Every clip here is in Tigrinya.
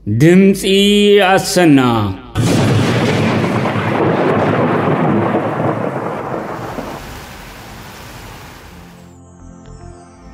ድምጺ ኣሰና።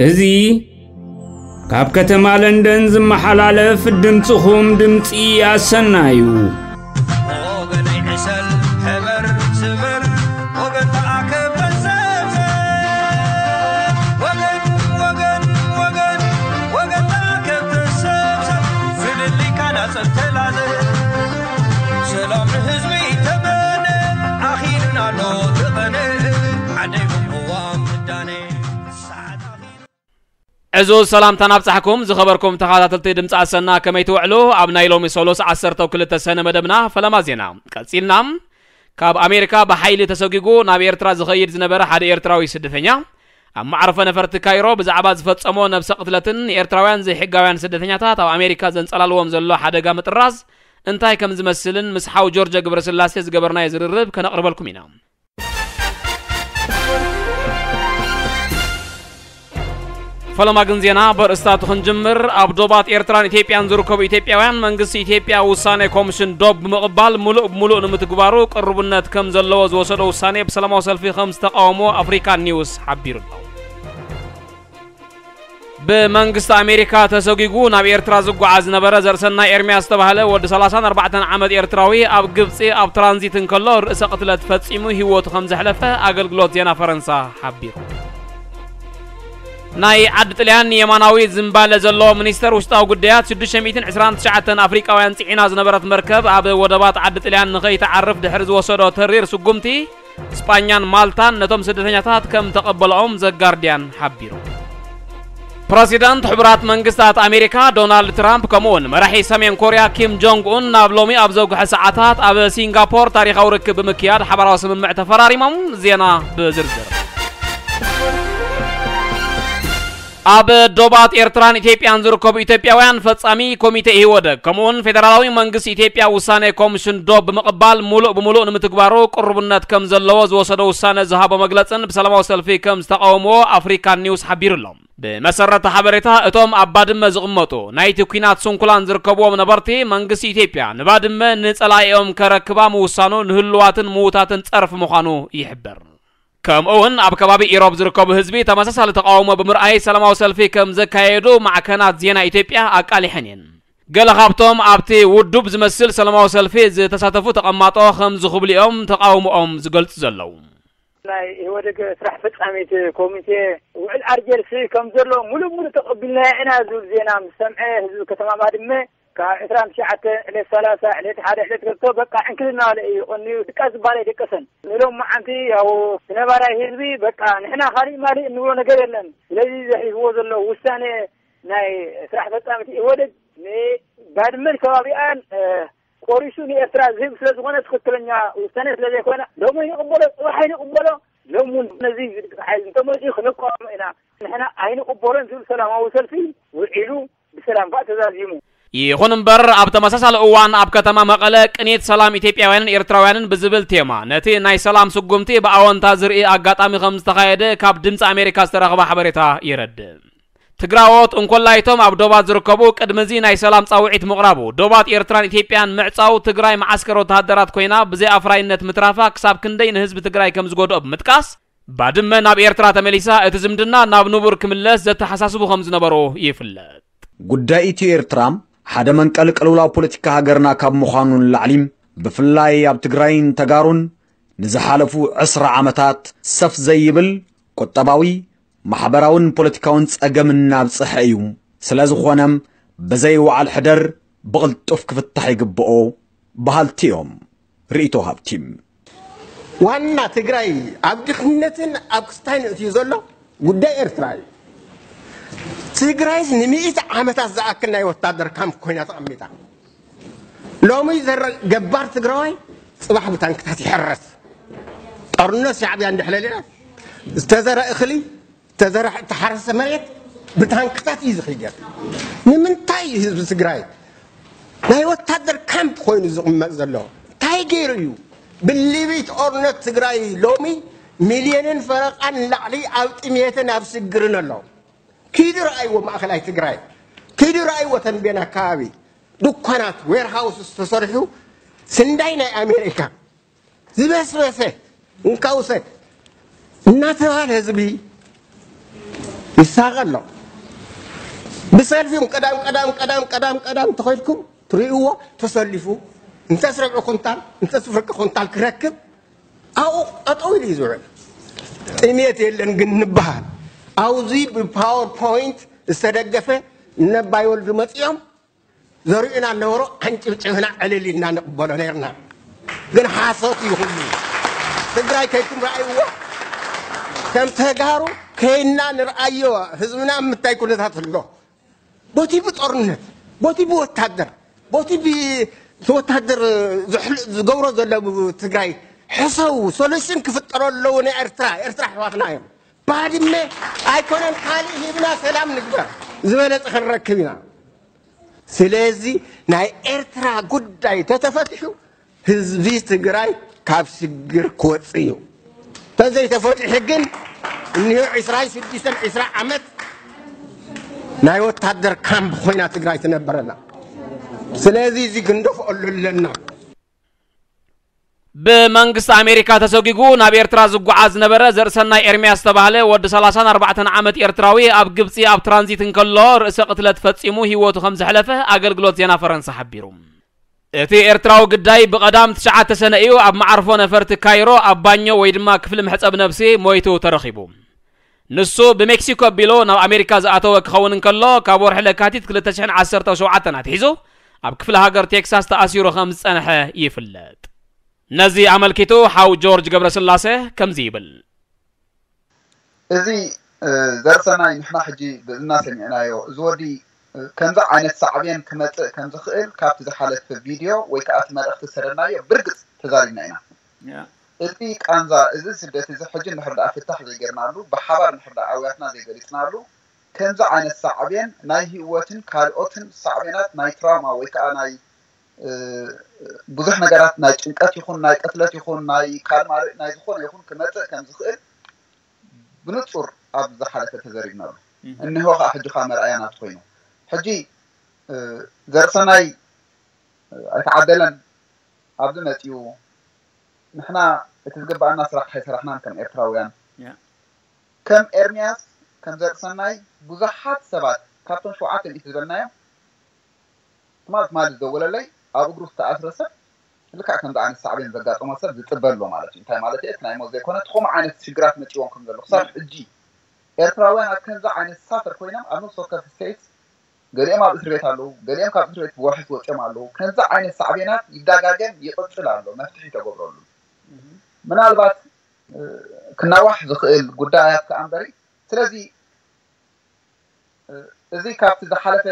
እዚ ካብ ከተማ ለንደን ዝመሓላለፍ ድምጽኹም ድምጺ ኣሰና እዩ። ወገነይ ዕሰል ሕበር ስበር ወገን ተኣከብ ተሰብሰብ። ወገን፣ ወገን፣ ወገን፣ ወገን ተኣከብ ተሰብሰብ። ፍልልይካ ናጸብ ተላዘብ። ሰላም ንህዝቢ ተመነ። ኣኺሉና ኣሎ ተቐነ። ዓደይ ቅዋም ምዳነ። ሰዓት ኣኺሉ። ዕዙዝ ሰላምታ ናብጻሕኩም ዝኸበርኩም ተኸታተልቲ ድምፂ ኣሰና፣ ከመይ ትውዕሉ? ኣብ ናይ ሎሚ ሰሉስ ዓሰርተ ክልተ ሰነ መደብና ፈለማ ዜና ቀጺልና። ካብ ኣሜሪካ ብሓይሊ ተሰጒጉ ናብ ኤርትራ ዝኸይድ ዝነበረ ሓደ ኤርትራዊ ስደተኛ ኣብ መዕረፎ ነፈርቲ ካይሮ ብዛዕባ ዝፈጸሞ ነብሰ ቅትለትን ንኤርትራውያን ዘይሕጋውያን ስደተኛታት ኣብ ኣሜሪካ ዘንጸላልዎም ዘሎ ሓደጋ ምጥራዝ እንታይ ከም ዝመስልን ምስ ሓው ጆርጆ ግብረስላሴ ዝገበርናዮ ዝርርብ ከነቕርበልኩም ኢና። ፈለማ ግን ዜና በርእስታቱ ክንጅምር። ኣብ ዶባት ኤርትራን ኢትዮጵያን ዝርከቡ ኢትዮጵያውያን መንግስቲ ኢትዮጵያ ውሳኔ ኮሚሽን ዶብ ብምቕባል ሙሉእ ብሙሉእ ንምትግባሩ ቅርቡነት ከም ዘለዎ ዝወሰዶ ውሳኔ ብሰላማዊ ሰልፊ ከም ዝተቃወሞ ኣፍሪካ ኒውስ ሓቢሩ ኣሎ። ብመንግስቲ ኣሜሪካ ተሰጒጉ ናብ ኤርትራ ዝጓዓዝ ዝነበረ ዘርእሰናይ ኤርምያስ ዝተባህለ ወዲ ሰላሳን ኣርባዕተን ዓመት ኤርትራዊ ኣብ ግብጺ ኣብ ትራንዚት እንከሎ ርእሰ ቅትለት ፈጺሙ ህይወቱ ከም ዘሕለፈ ኣገልግሎት ዜና ፈረንሳ ሓቢሩ። ናይ ዓዲ ጥልያን የማናዊ ዝምባለ ዘለዎ ሚኒስተር ውሽጣዊ ጉዳያት ሽዱሽተ ሚእትን ዕስራን ትሽዓተን ኣፍሪቃውያን ጽዒና ዝነበረት መርከብ ኣብ ወደባት ዓዲ ጥልያን ንኸይትዓርፍ ድሕሪ ዝወሰዶ ተሪር ስጉምቲ፣ ስጳኛን ማልታን ነቶም ስደተኛታት ከም ተቐበልኦም ዘጋርድያን ሓቢሩ። ፕረሲደንት ሕቡራት መንግስታት ኣሜሪካ ዶናልድ ትራምፕ ከምኡውን መራሒ ሰሜን ኮርያ ኪም ጆንግ ኡን ናብ ሎሚ ኣብ ዘጉሐ ሰዓታት ኣብ ሲንጋፖር ታሪኻዊ ርክብ ብምክያድ ሓባራዊ ስምምዕ ተፈራሪሞም። ዜና ብዝርዝር። ኣብ ዶባት ኤርትራን ኢትዮጵያን ዝርከቡ ኢትዮጵያውያን ፈጻሚ ኮሚቴ ኢህወደግ ከምኡውን ፌደራላዊ መንግስቲ ኢትዮጵያ ውሳኔ ኮሚሽን ዶብ ብምቕባል ሙሉእ ብሙሉእ ንምትግባሩ ቅርቡነት ከም ዘለዎ ዝወሰዶ ውሳነ ዝሃቦ መግለጽን ብሰላማዊ ሰልፊ ከም ዝተቃወምዎ ኣፍሪካ ኒውስ ሓቢሩ ኣሎ። ብመሰረት ሓበሬታ እቶም ኣብ ባድመ ዝቕመጡ ናይቲ ኲናት ስንኩላን ዝርከብዎም ነበርቲ መንግስቲ ኢትዮጵያ ንባድመ ንጸላኢኦም ከረክባ ምውሳኑ ንህሉዋትን ምዉታትን ጸርፊ ምዃኑ ይሕበር። ከምኡ እውን ኣብ ከባቢ ኢሮብ ዝርከቡ ህዝቢ ተመሳሳሊ ተቃውሞ ብምርኣይ ሰላማዊ ሰልፊ ከም ዘካየዱ ማዕከናት ዜና ኢትዮጵያ ኣቃሊሐን እየን። ገለ ካብቶም ኣብቲ ውዱብ ዝመስል ሰላማዊ ሰልፊ ዝተሳተፉ ተቐማጦ ከም ዝኽብሉ እዮም ተቃውሞኦም ዝገልጹ ዘለዉ። ናይ ኢህወደግ ስራሕ ፈጻሚት ኮሚቴ ውዕል ኣርጀልሲ ከም ዘሎ ሙሉእ ሙሉእ ተቐቢልናዮ ኢና ዝብል ዜና ምስ ሰምዐ ህዝቢ ከተማ ባድመ ካብ ዕስራን ትሽዓተ ዕለት ሰላሳ ዕለት ሓደ ዕለት ገብቶ በቃ ዕንክልና በለ እዩ ቀንዩ ድቃስ ዝበሃል ኣይደቀሰን። ንሎም መዓንቲ ያው ነባራይ ህዝቢ በቃ ንሕና ካሊእ ማሊእ እንብሎ ነገር የለን። ስለዚ ዘሕልፍዎ ዘሎ ውሳኔ ናይ ስራሕ ፈጻሚት ኢህወደግ ንባድመን ከባቢኣን፣ እ፣ ቆሪሱ ንኤርትራ ዝህብ ስለ ዝኾነ ትኽክለኛ ውሳኔ ስለ ዘይኮነ ሎሚ ይቕበሎ፣ ጽባሕ ኣይንቕበሎ። ሎም እውን ነዚ ዝድግፍ ሓይሊ እንተመፅኡ ክንቃወሞ ኢና። ንሕና ኣይንቕበሎን ዝብል ሰላማዊ ሰልፊ ውዒሉ ብሰላም ከዓ ተዛዚሙ። ይኹን እምበር ኣብ ተመሳሳሊ እዋን ኣብ ከተማ መቐለ ቅኒት ሰላም ኢትዮጵያውያንን ኤርትራውያንን ብዝብል ቴማ ነቲ ናይ ሰላም ስጉምቲ ብኣወንታ ዝርኢ ኣጋጣሚ ከም ዝተኻየደ ካብ ድምፂ ኣሜሪካ ዝተረኽበ ሓበሬታ የረድእ። ትግራዎት እንኮላይቶም ኣብ ዶባት ዝርከቡ ቅድሚ እዚ ናይ ሰላም ጻውዒት ምቕራቡ ዶባት ኤርትራን ኢትዮጵያን ምዕጻው ትግራይ መዓስከር ወተሃደራት ኮይና ብዘይ ኣፍራይነት ምትራፋ ክሳብ ክንደይ ንህዝቢ ትግራይ ከም ዝጎድኦ ብምጥቃስ ባድመ ናብ ኤርትራ ተመሊሳ እቲ ዝምድና ናብ ንቡር ክምለስ ዘተሓሳስቡ ከም ዝነበሩ ይፍለጥ። ጉዳይ ኢትዮ ኤርትራ ሓደ መንቀል ቅልውላው ፖለቲካ ሃገርና ካብ ምዃኑ ንላዕሊ ብፍላይ ኣብ ትግራይን ተጋሩን ንዝሓለፉ ዕስራ ዓመታት ሰፍ ዘይብል ቁጠባዊ፣ ማሕበራውን ፖለቲካውን ጸገም እናብጽሐ እዩ። ስለ ዝኾነ ብዘይ ወዓል ሕደር ብቕልጡፍ ክፍታሕ ይግብኦ በሃልቲ እዮም። ርእይቶ ሃብቲ። ዋና ትግራይ ኣብ ድኽነትን ኣብ ክስታይን እትዩ ዘሎ ጉዳይ ኤርትራ እዩ። ትግራይ ንሚእቲ ዓመታት ዝኣክል ናይ ወታደር ካምፕ ኮይና ተቐሚጣ። ሎሚ ዘረ-፣ ገባር ትግራዋይ ጽባሕ ብታንክታት ይሕረስ። ጦርነት ሻዕብያ እንድሕለልና ዝተዘረ እኽሊ፣ ዝተዘረ፣ እተሓረሰ መሬት ብታንክታት እዩ ዝኽይድ። ንምንታይ እዩ ህዝቢ ትግራይ ናይ ወታደር ካምፕ ኮይኑ ዝቕመጥ ዘሎ? እንታይ ገይሩ እዩ? ብሊቢት ኦርነት ትግራይ ሎሚ ሚልዮንን ፈረቓን ንላዕሊ ኣብ ጥሜትን ኣብ ስግርን ኣሎ። ኪዱ ረኣይዎ ማእኸላይ ትግራይ፣ ኪዱ ረኣይዎ ተንቤን ኣካባቢ። ድኳናት፣ ዌርሃውስ ተሰሪሑ፣ ስንዳይ ናይ ኣሜሪካ ዝበስበሰ እንካ ውሰድ እናተባለ ህዝቢ ይሳቐ ኣሎ። ብሰልፊ ቀዳም ቀዳም ቀዳም ቀዳም ቀዳም ተኸይድኩም ትርእይዎ፣ ተሰሊፉ እንተስ ርብዒ ኩንታል እንተስ ፍርቂ ኩንታል ክረክብ ኣብኡ ጠጠው ኢሉ እዩ ዝውዕል። ጥሜት የለን ግን ንበሃል። ኣብዚ ብፓወርፖይንት ዝተደገፈ ነባይ ወልዱ መፂኦም ዘርእዩና ነበሩ፣ ኣንጭብጭብና ዕልል ኢልና ንቕበሎ ነርና። ግን ሓሶት እዩ ኩሉ። ትግራይ ከይኩም ረኣይዎ። ከም ተጋሩ ከይና ንርኣዮ። ህዝብና ምታይ ኩነታት ኣሎ። ቦቲ ብጦርነት፣ ቦቲ ብወታደር፣ ቦቲ ብ-፣ እቲ ወታደር ዝሕል-፣ ዝገብሮ ዘሎ ትግራይ ሕሰው ሶሉሽን ክፍጠሮ ኣለዎ። ናይ ኤርትራ፣ ኤርትራ ኣሕዋትና እዮም። ባድመ ኣይኮነን ካልእ ሂብና ሰላም ንግበር፣ ዝበለጸ ክንረክብ ኢና። ስለዚ ናይ ኤርትራ ጉዳይ ተተፈትሑ ህዝቢ ትግራይ ካብ ሽግር ክወፅእ እዩ። ተዘይተፈትሑ ግን እኒሆ ዒስራን ሽዱሽተን ዒስራ ዓመት ናይ ወታደር ካምፕ ኮይና ትግራይ ትነብረላ። ስለዚ እዚ ክንደፍኦ ኣለና። ብመንግስቲ ኣሜሪካ ተሰጒጉ ናብ ኤርትራ ዝጓዓዝ ዝነበረ ዘርእሰናይ ኤርምያስ ዝተባህለ ወዲ ሰላሳን ኣርባዕተን ዓመት ኤርትራዊ ኣብ ግብጺ ኣብ ትራንዚት እንከሎ ርእሰ ቅትለት ፈጺሙ ህይወቱ ከም ዘሕለፈ ኣገልግሎት ዜና ፈረንሳ ሓቢሩ። እቲ ኤርትራዊ ግዳይ ብቐዳም ትሽዓተ ሰነ እዩ ኣብ መዓርፎ ነፈርቲ ካይሮ ኣብ ባኞ ወይ ድማ ክፍሊ መሕጸብ ነብሲ ሞይቱ ተረኺቡ። ንሱ ብሜክሲኮ ኣቢሉ ናብ ኣሜሪካ ዝኣተወ ክኸውን እንከሎ፣ ካብ ወርሒ ለካቲት ክልተ ሽሕን ዓሰርተ ሸውዓተን ኣትሒዙ ኣብ ክፍለ ሃገር ቴክሳስ ተኣሲሩ ከም ዝጸንሐ ይፍለጥ። ነዚ ኣመልኪቱ ሓው ጆርጅ ገብረስላሴ ከምዚ ይብል። እዚ፣ እ፣ ዘርሰናይ ንሕና ሕጂ ብእዝና ሰሚዕናዮ። እዚ ወዲ፣ እ፣ ከምዚ ዓይነት ሳዕቤን ክመጽእ ከም ዝኽእል ካብቲ ዝሓለፈ ቪድዮ ወይ ከኣ እቲ መልእኽቲ ዝሰደድናዮ ብርግጽ ተዛሪብና ኢና። ያ። እዚ ቃንዛ፣ እዚ ስደት እዚ ሕጂ እንድሕር ደኣ ፍታሕ ዘይገርናሉ፣ ብሓባር እንድሕር ደኣ ኣውያትና ዘይገሊጽናሉ፣ ከምዚ ዓይነት ሳዕቤን ናይ ህይወትን ካልኦትን ሳዕቤናት ናይ ትራውማ ወይ ከኣ ናይ፣ እ፣ ብዙሕ ነገራት ናይ ጭንቀት ይኹን ናይ ቅትለት ይኹን ናይ ካልእ ማልእ ናይ ዝኾነ ይኹን ክመጽእ ከም ዝኽእል ብንጹር ኣብ ዝሓለፈ ተዘሪብናሉ። እም። እንሆ ከኣ ሕጂ ከኣ መርኣያ ናቱ ኮይኑ። ሕጂ፣ እ፣ ዘርሰናይ፣ እ፣ ኣይተዓደለን ኣብዚ መጺኡ። ንሕና እቲ ዝግባኣና ስራሕ ኣይሰራሕናን ከም ኤርትራውያን። ያ። ከም ኤርምያስ፣ ከም ዘርእሰናይ ብዙሓት ሰባት ካብቶም ሸውዓተ ሚእቲ ዝበልናዮም ትማል ትማል ዝደወለለይ ኣብ እግሩ ዝተኣስረ ሰብ ልክዕ ከምዚ ዓይነት ሳዕቤን ዘጋጠሞ ሰብ ዝጽበ ኣሎ ማለት እዩ። እንታይ ማለት እዩ? እቲ ናይ ሞት ዘይኮነ እቲ ከምኡ ዓይነት ሽግራት መጺዎም ከም ዘሎ ክሳብ ሕጂ ኤርትራውያን ኣብ ከምዚ ዓይነት ሳፈር ኮይኖም ኣብ ነፍሲ ወከፍ ስቴትስ ገሊኦም ኣብ እስር ቤት ኣለዉ፣ ገሊኦም ካብ እስር ቤት ብዋሕስ ወጺኦም ኣለዉ። ከምዚ ዓይነት ሳዕቤናት ይዳጋገም ይቕጽል ኣሎ፣ መፍትሒ ተገብረሉ። ምናልባት፣ እ፣ ክናዋሕ ዝኽእል ጉዳያት ከኣ እምበሪ። ስለዚ፣ እ፣ እዚ ካብቲ ዝሓለፈ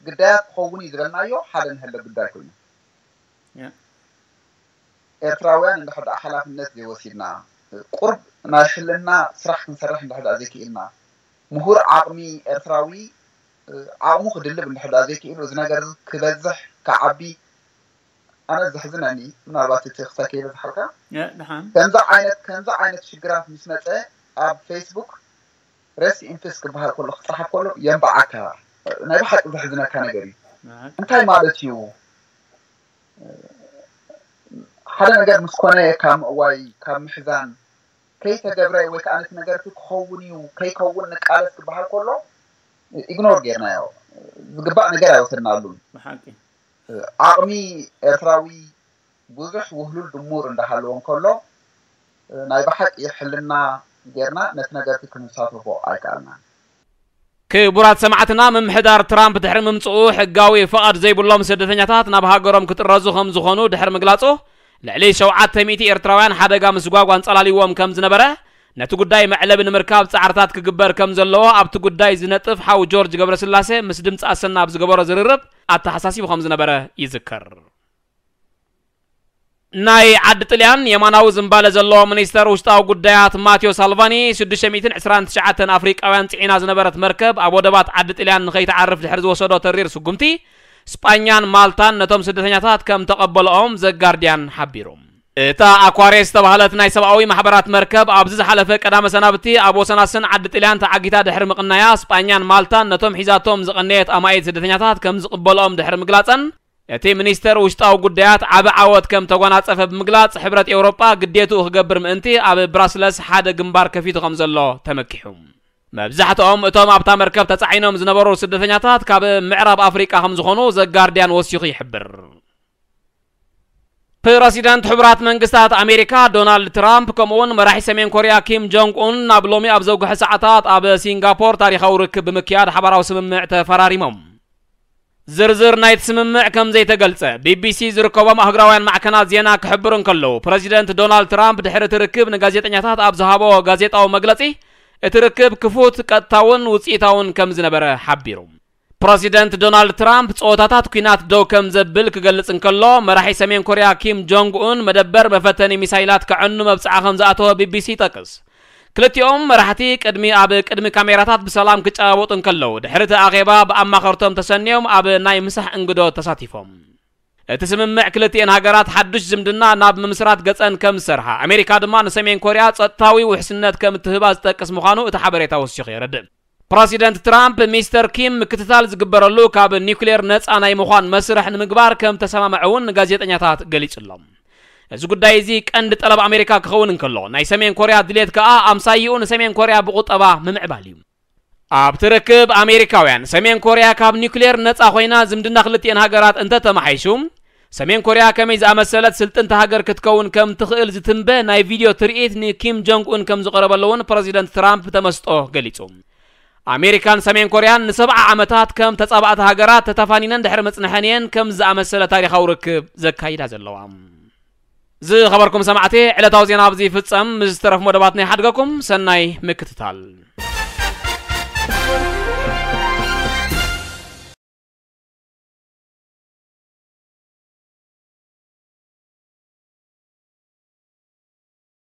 ግዳያት ክኸውን እዩ ዝበልናዮ ሓደ ንህለ ጉዳይ ኮይኑ። ያ። ኤርትራውያን እንድሕር ደኣ ሓላፍነት ዘይወሲድና፣ ቁርብ ናይ ሕልና ስራሕ ክንሰርሕ እንድሕር ደኣ ዘይክኢልና፣ ምሁር ዓቕሚ ኤርትራዊ፣ ዓቕሙ ክድልብ እንድሕር ደኣ ዘይክኢሉ፣ እዚ ነገር እዚ ክበዝሕ፣ ክዓቢ፣ ኣነ ዘሕዝነኒ፣ ምናልባት እቲ ክሳብ ከይበዝሓልካ፣ ያ፣ ደሓን። ከምዚ ዓይነት፣ ከምዚ ዓይነት ሽግራት ምስ መጸ፣ ኣብ ፌስቡክ፣ ሬስት ኢን ፒስ ክበሃል ከሎ፣ ክጸሓፍ ከሎ፣ የንብዓካ። ናይ ብሓቂ ዘሕዝነካ ነገር እዩ። ደሓን። እንታይ ማለት እዩ? ሓደ ነገር ምስ ኮነ ካብ ምእዋይ፣ ካብ ምሕዛን፣ ከይተገብረ ወይ ከኣ ነቲ ነገር እቲ ክኸውን እዩ፣ ከይከውን ንቃለስ ክበሃል ከሎ፣ ኢግኖር ጌርናዮ። ዝግባእ ነገር ኣይወሰድናሉን። ብሓቂ። ዓቕሚ ኤርትራዊ ብዙሕ ውህሉል ድሙር እንዳሃለዎ እንከሎ፣ ናይ ብሓቂ ሕልና ጌርና ነቲ ነገር እቲ ክንሳተፎ ኣይከኣልናን። ክቡራት ሰማዕትና፣ ምምሕዳር ትራምፕ ድሕሪ ምምጽኡ ሕጋዊ ፍቓድ ዘይብሎም ስደተኛታት ናብ ሃገሮም ክጥረዙ ከም ዝኾኑ ድሕሪ ምግላጹ፣ ልዕሊ ሸውዓተ ሚእቲ ኤርትራውያን ሓደጋ ምስጓግ ኣንጸላልይዎም ከም ዝነበረ፣ ነቲ ጉዳይ መዕለቢ ንምርካብ ጻዕርታት ክግበር ከም ዘለዎ ኣብቲ ጉዳይ ዝነጥፍ ሓው ጆርጅ ገብረስላሴ ምስ ድምጺ ኣሰና ኣብ ዝገበሮ ዝርርብ ኣተሓሳሲቡ ከም ዝነበረ ይዝከር። ናይ ዓዲ ጥልያን የማናዊ ዝምባለ ዘለዎ ሚኒስተር ውሽጣዊ ጉዳያት ማቴዎ ሳልቫኒ ሽዱሽተ ሚእትን ዕስራን ትሽዓተን ኣፍሪቃውያን ጽዒና ዝነበረት መርከብ ኣብ ወደባት ዓዲ ጥልያን ንኸይትዓርፍ ድሕሪ ዝወሰዶ ተሪር ስጉምቲ፣ ስጳኛን ማልታን ነቶም ስደተኛታት ከም ተቐበልኦም ዘጋርድያን ሓቢሩ። እታ ኣኳሬስ ዝተባህለት ናይ ሰብኣዊ ማሕበራት መርከብ ኣብዚ ዝሓለፈ ቀዳመ ሰናብቲ ኣብ ወሰናስን ዓዲ ጥልያን ተዓጊታ ድሕሪ ምቕናያ፣ ስጳኛን ማልታን ነቶም ሒዛቶም ዝቐነየት ኣማኢት ስደተኛታት ከም ዝቕበልኦም ድሕሪ ምግላጸን፣ እቲ ሚኒስተር ውሽጣዊ ጉዳያት ዓቢ ዓወት ከም ተጓናጸፈ ብምግላጽ፣ ሕብረት ኤውሮጳ ግዴትኡ ክገብር ምእንቲ ኣብ ብራስለስ ሓደ ግንባር ከፊቱ ከም ዘሎ ተመኪሑ። መብዛሕትኦም እቶም ኣብታ መርከብ ተጻዒኖም ዝነበሩ ስደተኛታት ካብ ምዕራብ ኣፍሪቃ ከም ዝኾኑ ዘጋርድያን ወሲኹ ይሕብር። ፕረሲደንት ሕቡራት መንግስታት ኣሜሪካ ዶናልድ ትራምፕ ከምኡውን መራሒ ሰሜን ኮርያ ኪም ጆንግ ኡን ናብ ሎሚ ኣብ ዘውግሐ ሰዓታት ኣብ ሲንጋፖር ታሪኻዊ ርክብ ብምክያድ ሓባራዊ ስምምዕ ተፈራሪሞም። ዝርዝር ናይቲ ስምምዕ ከም ዘይተገልጸ ቢቢሲ ዝርከቦም ኣህጉራውያን ማዕከናት ዜና ክሕብሩ እንከለዉ፣ ፕረዚደንት ዶናልድ ትራምፕ ድሕሪ እቲ ርክብ ንጋዜጠኛታት ኣብ ዝሃቦ ጋዜጣዊ መግለጺ፣ እቲ ርክብ ክፉት፣ ቀጥታውን ውጽኢታውን ከም ዝነበረ ሓቢሩ። ፕረዚደንት ዶናልድ ትራምፕ ጸወታታት ኲናት ደው ከም ዘብል ክገልጽ እንከሎ፣ መራሒ ሰሜን ኮርያ ኪም ጆንግ ኡን መደበር መፈተኒ ሚሳይላት ከዕኑ መብጽዓ ከም ዝኣተወ ቢቢሲ ይጠቅስ። ክልቲኦም መራሕቲ ቅድሚ ኣብ ቅድሚ ካሜራታት ብሰላም ክጨባበጡ እንከለዉ፣ ድሕሪ እቲ ኣኼባ ብኣማኸርቶም ተሰንዮም ኣብ ናይ ምሳሕ እንግዶ ተሳቲፎም። እቲ ስምምዕ ክልቲኤን ሃገራት ሓዱሽ ዝምድና ናብ ምምስራት ገጸን ከም ዝሰርሓ፣ ኣሜሪካ ድማ ንሰሜን ኮርያ ጸጥታዊ ውሕስነት ከም እትህባ ዝጠቅስ ምዃኑ እቲ ሓበሬታ ወሲኹ የረድእ። ፕረሲደንት ትራምፕ ሚስተር ኪም ምክትታል ዝግበረሉ ካብ ኒውክሌር ነጻ ናይ ምዃን መስርሕ ንምግባር ከም ተሰማምዐ እውን ንጋዜጠኛታት ገሊጹ ኣሎ። እዚ ጉዳይ እዚ ቀንዲ ጠለብ ኣሜሪካ ክኸውን እንከሎ፣ ናይ ሰሜን ኮርያ ድሌት ከኣ ኣምሳይኡ ንሰሜን ኮርያ ብቁጠባ ምምዕባል እዩ። ኣብቲ ርክብ ኣሜሪካውያን፣ ሰሜን ኮርያ ካብ ኒውክሌር ነጻ ኮይና ዝምድና ክልቲኤን ሃገራት እንተተማሓይሹ፣ ሰሜን ኮርያ ከመይ ዝኣመሰለት ስልጥንቲ ሃገር ክትከውን ከም ትኽእል ዝትንበ ናይ ቪድዮ ትርኢት ንኪም ጆንግ ኡን ከም ዝቐረበሉ እውን ፕረዚደንት ትራምፕ ተመስጦ ገሊጹ። ኣሜሪካን ሰሜን ኮርያን ንሰብዓ ዓመታት ከም ተጻባእቲ ሃገራት ተተፋኒነን ድሕሪ ምጽንሐን እየን ከም ዝኣመሰለ ታሪኻዊ ርክብ ዘካይዳ ዘለዋ። ዝኸበርኩም ሰማዕቲ፣ ዕለታዊ ዜና ኣብዚ ይፍጸም። ምስ ዝተረፉ መደባት ናይ ሓድገኩም ሰናይ ምክትታል።